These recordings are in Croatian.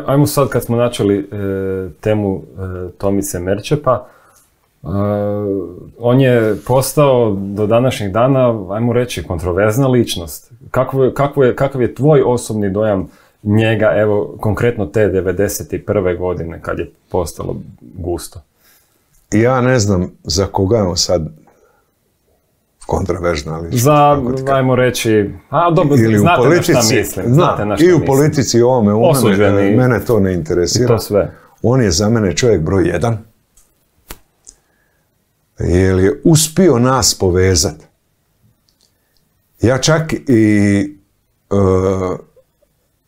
Ajmo sad kad smo načeli temu Tomice Merčepa, on je postao do današnjih dana, ajmo reći, kontroverzna ličnost. Kakav je tvoj osobni dojam njega, evo, konkretno te 91. godine kad je postalo gusto? Ja ne znam za koga je on sad kontroverzna ličnost. Ajmo reći, dobro, znate na šta mislim. I u politici, ovome, mene to ne interesira. I to sve. On je za mene čovjek broj 1. Jer je uspio nas povezati. Ja čak i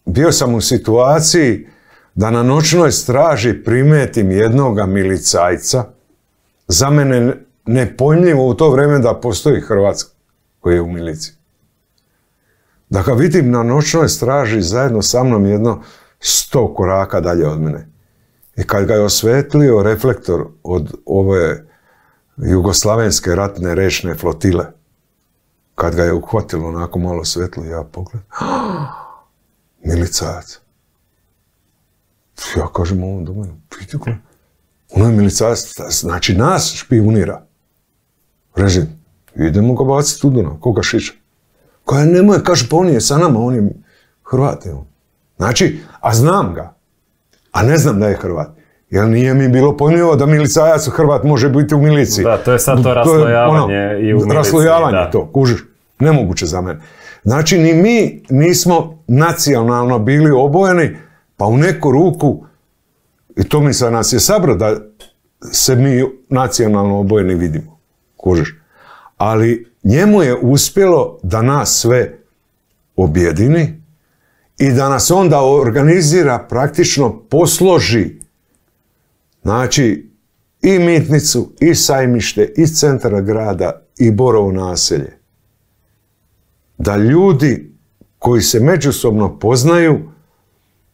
bio sam u situaciji da na noćnoj straži primetim jednoga milicajca. Za mene nepojmljivo u to vrijeme da postoji Hrvatska koji je u miliciji. Da ga vidim na noćnoj straži zajedno sa mnom 100 koraka dalje od mene. I kad ga je osvetlio reflektor od ove jugoslavenske ratne rečne flotile, kad ga je uhvatilo onako malo svetlo, ja pogledam, milicajac. Ja kažem ovom domenu, vidite ko? Ono je milicajac, znači nas špijunira. Režim, idemo ga baciti u Dunav, koga šiša. Koja nemoj, kaže, pa on je sa nama, on je Hrvat. Znači, a znam ga, a ne znam da je Hrvat. Jer nije mi bilo pojmljivo da milicajac Hrvat može biti u miliciji. Da, to je sad to raslojavanje i u miliciji. Raslojavanje to, kužiš. Nemoguće za mene. Znači, ni mi nismo nacionalno bili obojeni, pa u neku ruku, i to mi sa nas je sabro da se mi nacionalno obojeni vidimo. Kužiš. Ali njemu je uspjelo da nas sve objedini i da nas onda organizira, praktično posloži. Znači, i Mitnicu, i Sajmište, i centar grada, i Borovo naselje. Da ljudi koji se međusobno poznaju,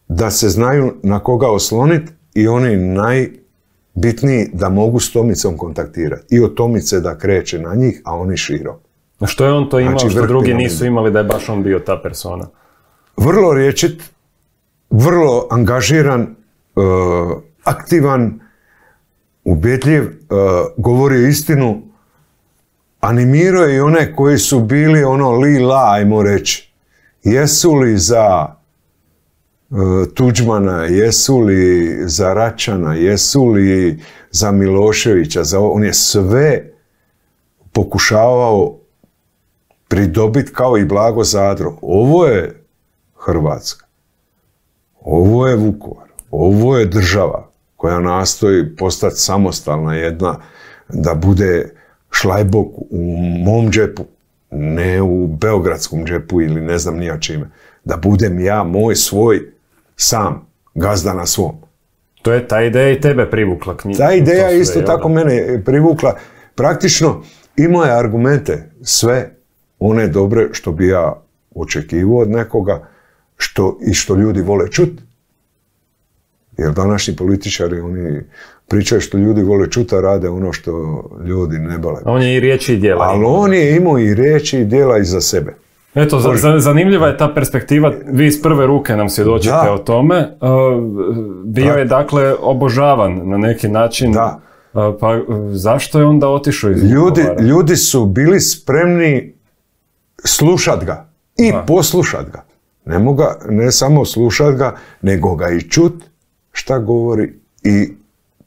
da se znaju na koga osloniti i oni najbitniji da mogu s Tomicom kontaktirati. I od Tomice da kreće na njih, a oni širom. A što je on to imao, što drugi nisu imali da je baš on bio ta persona? Vrlo rječit, vrlo angažiran, aktivan, ubjedljiv, govorio istinu, animirao je i one koji su bili li-la, ajmo reći. Jesu li za Tuđmana, jesu li za Račana, jesu li za Miloševića, on je sve pokušavao pridobiti kao i Blago Zadro. Ovo je Hrvatska, ovo je Vukovar, ovo je država koja nastoji postati samostalna jedna, da bude šlajbok u mom džepu, ne u beogradskom džepu ili ne znam nija čime. Da budem ja, moj, svoj, sam, gazda na svom. To je ta ideja i tebe privukla knjiga. Ta ideja isto tako mene privukla. Praktično imao je argumente, sve one dobre što bi ja očekivao od nekoga i što ljudi vole čuti. Jer današnji političari, oni pričaju što ljudi vole čuti, a rade ono što ljudi ne bale. On je i riječi i djela. Ali on je imao i riječi i djela iza sebe. Eto, zanimljiva je ta perspektiva, vi iz prve ruke nam svjedočite o tome. Bio je dakle obožavan na neki način. Da. Pa zašto je onda otišao iz Vukovara? Ljudi su bili spremni slušat ga i poslušat ga. Ne samo slušat ga, nego ga i čut šta govori i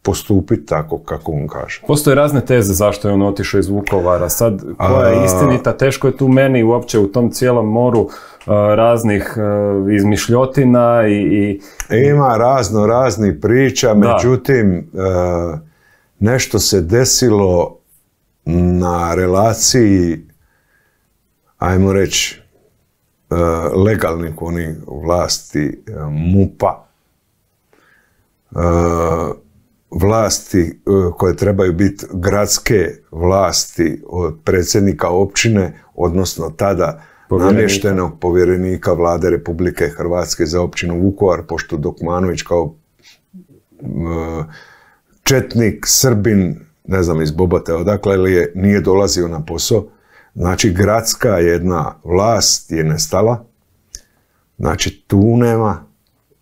postupiti tako kako on kaže. Postoje razne teze zašto je on otišao iz Vukovara. Sad, koja je istinita, teško je tu meni uopće u tom cijelom moru raznih izmišljotina i... Ima raznih priča, međutim, nešto se desilo na relaciji, ajmo reći, legalnih onih vlasti MUP-a, vlasti koje trebaju biti gradske vlasti od predsjednika općine, odnosno tada namještenog povjerenika Vlade Republike Hrvatske za općinu Vukovar, pošto Dokmanović kao četnik, Srbin, ne znam iz Bobote odakle li nije dolazio na posao. Znači, gradska jedna vlast je nestala. Znači, tu nema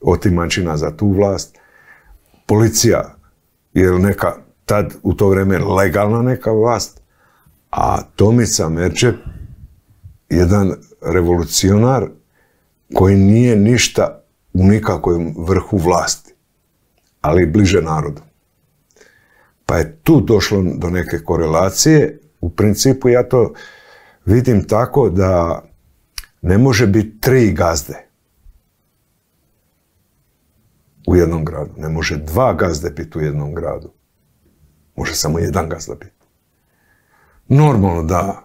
otimačina za tu vlast. Policija je neka, tad u to vrijeme legalna neka vlast, a Tomica Merčep, jedan revolucionar koji nije ništa u nikakvom vrhu vlasti, ali bliže narodu. Pa je tu došlo do neke korelacije. U principu ja to vidim tako da ne može biti 3 gazde u jednom gradu. Ne može 2 gazde biti u jednom gradu. Može samo 1 gazda biti. Normalno da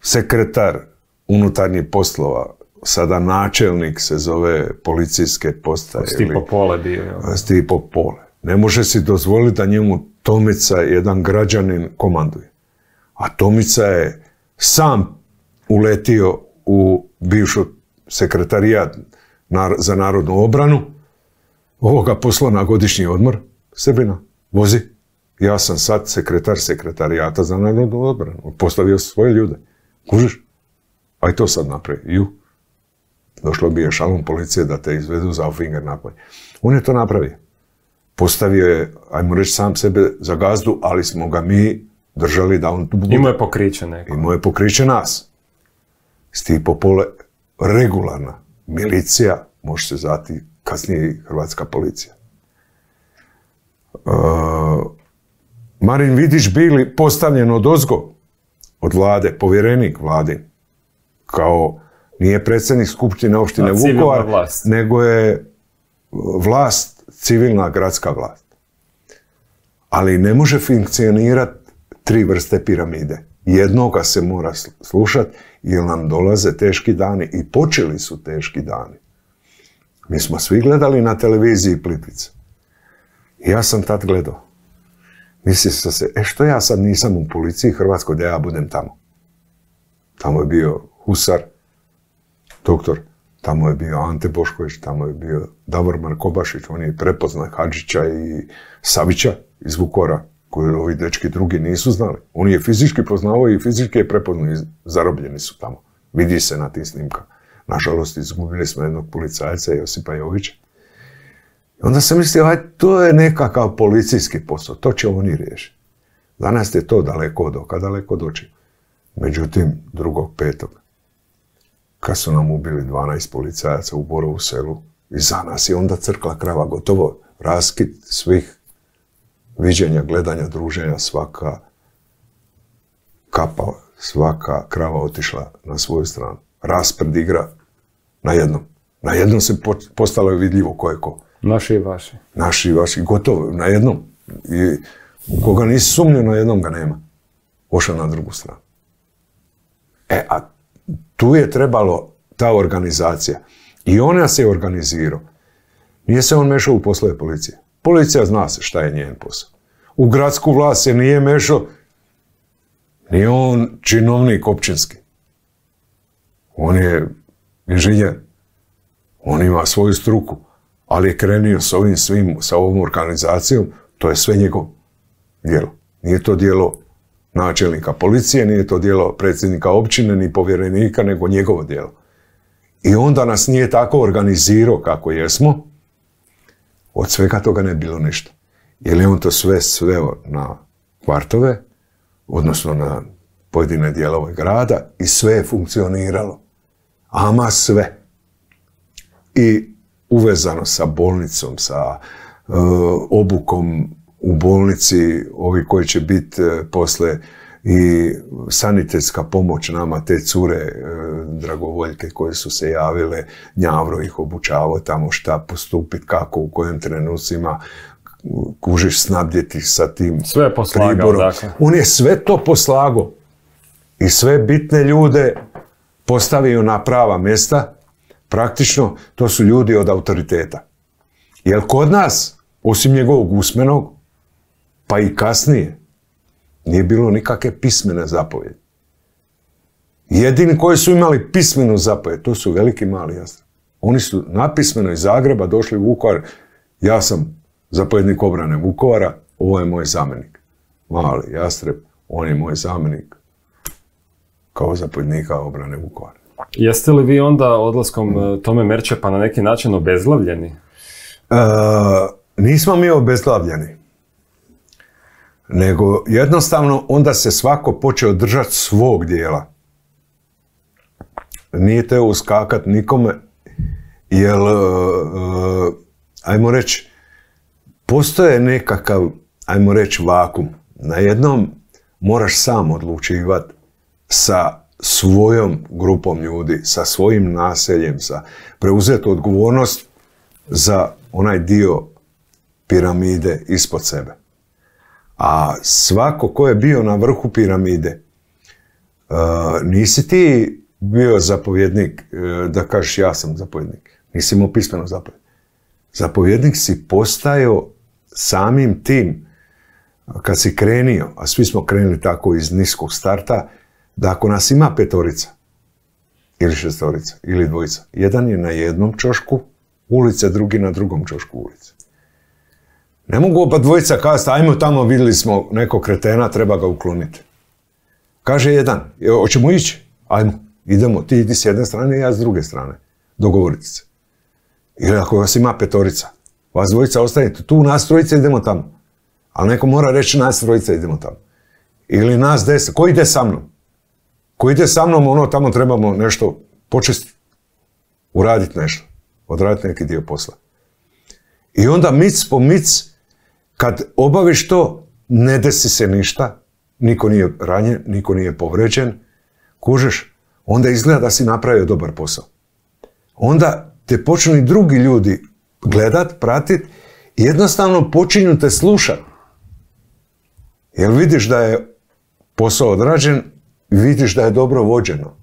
sekretar unutarnjih poslova, sada načelnik se zove policijske postaje. Stipo Pole bio. Stipo Pole. Ne može si dozvoliti da njemu Tomica, jedan građanin, komanduje. A Tomica je sam uletio u bivšu sekretarijat za narodnu obranu, ovoga poslao na godišnji odmor, Srbina, vozi. Ja sam sad sekretar sekretarijata za narodnu obranu. Postavio svoje ljude. Kužiš? Aj to sad napravi. Došlo bi je šalom policije da te izvedu za Auffinger napolje. On je to napravio. Postavio je, ajmo reći, sam sebe za gazdu, ali smo ga mi držali da on tu bude. Imao je pokriće neko. Imao je pokriće nas. Stipo Pole, regularna milicija, može se zvati kasnije i hrvatska policija. Marin Vidić bili postavljen odozgo od vlade, povjerenik vladin, kao nije predsjednik skupštine opštine Vukovar, nego je vlast, civilna gradska vlast. Ali ne može funkcionirati 3 vrste piramide. Jednoga se mora slušati jer nam dolaze teški dani i počeli su teški dani. Mi smo svi gledali na televiziji Plitvice. I ja sam tad gledao. Mislio sam se, što ja sad nisam u policiji Hrvatskoj da ja budem tamo. Tamo je bio Husar, doktor, tamo je bio Ante Bošković, tamo je bio Davor Markobašić, on je prepoznao Hadžića i Savića iz Vukovara, koji ovi dečki drugi nisu znali. On je fizički poznavao i fizički je prepoznao i zarobljeni su tamo. Vidi se na tim snimkama. Nažalost, izgubili smo jednog policajca, Josipa Jovića. Onda sam mislio, to je nekakav policijski posao, to će oni riješiti. Danas je to daleko od oka, daleko od očiju. Međutim, 2.5. kad su nam ubili 12 policajaca u Borovu selu, iza nas je onda crkla krava, gotovo raskid svih viđenja, gledanja, druženja, svaka kapa, svaka krava otišla na svoju stranu. Raspred igra na jednom. Na jednom se postalo je vidljivo ko je ko. Naši i vaši. Naši i vaši, gotovo, na jednom. I koga nisi sumnio, na jednom ga nema. Ošao na drugu stranu. A tu je trebalo ta organizacija. I ona se organizirao. Nije se on mešao u poslove policije. Policija zna se šta je njen posao. U gradsku vlast se nije mešao. Nije on činovnik općinski. On je inženjer. On ima svoju struku. Ali je krenio s ovim svim, sa ovom organizacijom, to je sve njegov djelo. Nije to djelo načelnika policije, nije to djelo predsjednika općine, ni povjerenika, nego njegovo djelo. I onda nas nije tako organizirao kako jesmo, od svega toga ne bilo ništa. Jer je on to sve sveo na kvartove, odnosno na pojedine dijelove grada i sve je funkcioniralo. Ama sve. I uvezano sa bolnicom, sa obukom u bolnici, ovi koji će biti posle i sanitetska pomoć nama, te cure dragovoljke koje su se javile, Njavro ih obučavao tamo šta postupiti, kako, u kojim trenucima, kužiš, snabdjeti sa tim sve je poslagao, dakle. On je sve to poslagao i sve bitne ljude postavio na prava mjesta. Praktično, to su ljudi od autoriteta. Jer kod nas, osim njegovog usmenog, pa i kasnije, nije bilo nikakve pismene zapovjedi. Jedini koji su imali pismenu zapovjed, to su veliki mali Jastreb. Oni su napismeno iz Zagreba došli u Vukovar. Ja sam zapovjednik obrane Vukovara, ovo je moj zamjenik. Mali Jastreb, on je moj zamjenik kao zapovjednika obrane Vukovara. Jeste li vi onda odlaskom Tome Merčepa na neki način obezglavljeni? Nismo mi obezglavljeni. Nego jednostavno onda se svako počeo držati svog dijela. Nije teo uskakat nikome, jer, ajmo reći, postoje nekakav, ajmo reći, vakum. Na jednom moraš sam odlučivati sa svojom grupom ljudi, sa svojim naseljem, preuzeti odgovornost za onaj dio piramide ispod sebe. A svako ko je bio na vrhu piramide, nisi ti bio zapovjednik, da kažeš ja sam zapovjednik. Nisi imao pismeno zapovjednik. Zapovjednik si postajao samim tim, kad si krenio, a svi smo krenuli tako iz niskog starta, da ako nas ima 5 ili 6 ili 2, jedan je na jednom ćošku ulice, drugi na drugom ćošku ulice. Ne mogu oba 2 kazati, ajmo tamo, vidjeli smo nekog kretena, treba ga ukloniti. Kaže jedan, hoćemo ići? Ajmo, idemo, ti idi s jedne strane i ja s druge strane. Dogovorite se. Ili ako vas ima 5, vas 2 ostanete tu, nas 3 idemo tamo. Ali neko mora reći nas 3 idemo tamo. Ili nas 10, ko ide sa mnom? Ko ide sa mnom, ono tamo trebamo nešto počistiti, uraditi nešto, odraditi neki dio posla. I onda mic po mic, kad obaviš to, ne desi se ništa, niko nije ranjen, niko nije povređen, kužeš, onda izgleda da si napravio dobar posao. Onda te počnu i drugi ljudi gledat, pratit i jednostavno počinju te slušat. Jer vidiš da je posao odrađen, vidiš da je dobro vođeno.